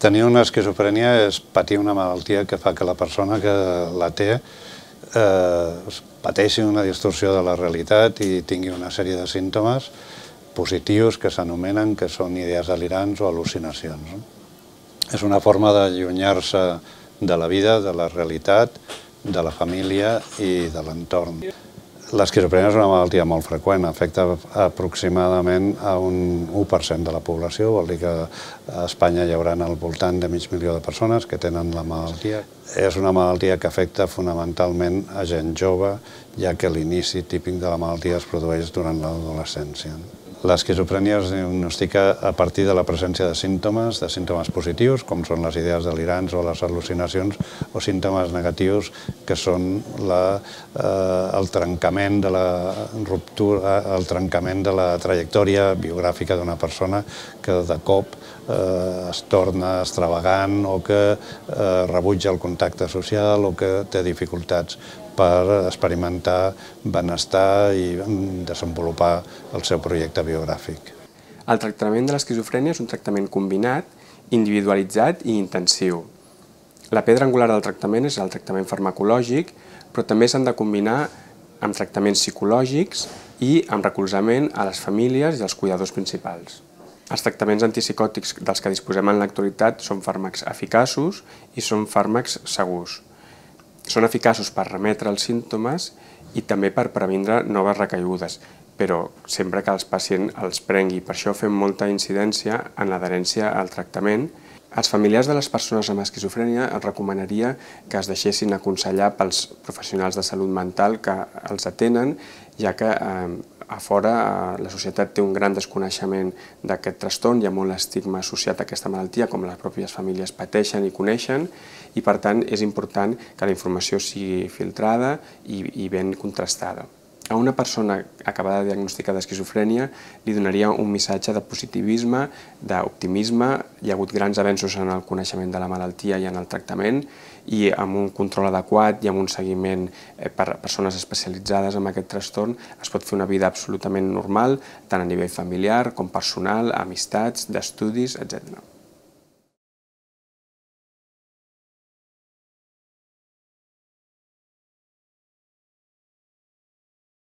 Tenir una esquizofrènia és patir una malaltia que fa que la persona que la té pateixi una distorsió de la realitat i tingui una sèrie de símptomes positius que s'anomenen que són idees delirants o al·lucinacions. És una forma d'allunyar-se de la vida, de la realitat, de la família i de l'entorn. L'esquizofrènia és una malaltia molt freqüent, afecta aproximadament a un 1% de la població, vol dir que a Espanya hi haurà al voltant de mig milió de persones que tenen la malaltia. És una malaltia que afecta fonamentalment a gent jove, ja que l'inici típic de la malaltia es produeix durant l'adolescència. L'esquizofrènia es diagnostica a partir de la presència de símptomes positius, com són les idees delirants o les al·lucinacions, o símptomes negatius, que són el trencament de la ruptura, el trencament de la trajectòria biogràfica d'una persona que de cop es torna extravagant o que rebutja el contacte social o que té dificultats per experimentar benestar i desenvolupar el seu projecte biogràfic. El tractament de l'esquizofrènia és un tractament combinat, individualitzat i intensiu. La pedra angular del tractament és el tractament farmacològic, però també s'han de combinar amb tractaments psicològics i amb recolzament a les famílies i als cuidadors principals. Els tractaments antipsicòtics dels que disposem en l'actualitat són fàrmacs eficaços i són fàrmacs segurs. Són eficaços per remetre els símptomes i també per previndre noves recaigudes, però sempre que el pacient els prengui. Per això fem molta incidència en l'adherència al tractament. Als familiars de les persones amb esquizofrènia els recomanaria que es deixessin aconsellar pels professionals de salut mental que els atenen, ja que a fora la societat té un gran desconeixement d'aquest trastorn, hi ha molt estigma associat a aquesta malaltia, com les pròpies famílies pateixen i coneixen, i per tant és important que la informació sigui filtrada i ben contrastada. A una persona acabada de diagnosticar d'esquizofrènia li donaria un missatge de positivisme, d'optimisme. Hi ha hagut grans avenços en el coneixement de la malaltia i en el tractament, i amb un control adequat i amb un seguiment per persones especialitzades en aquest trastorn es pot fer una vida absolutament normal, tant a nivell familiar com personal, amistats, d'estudis, etc.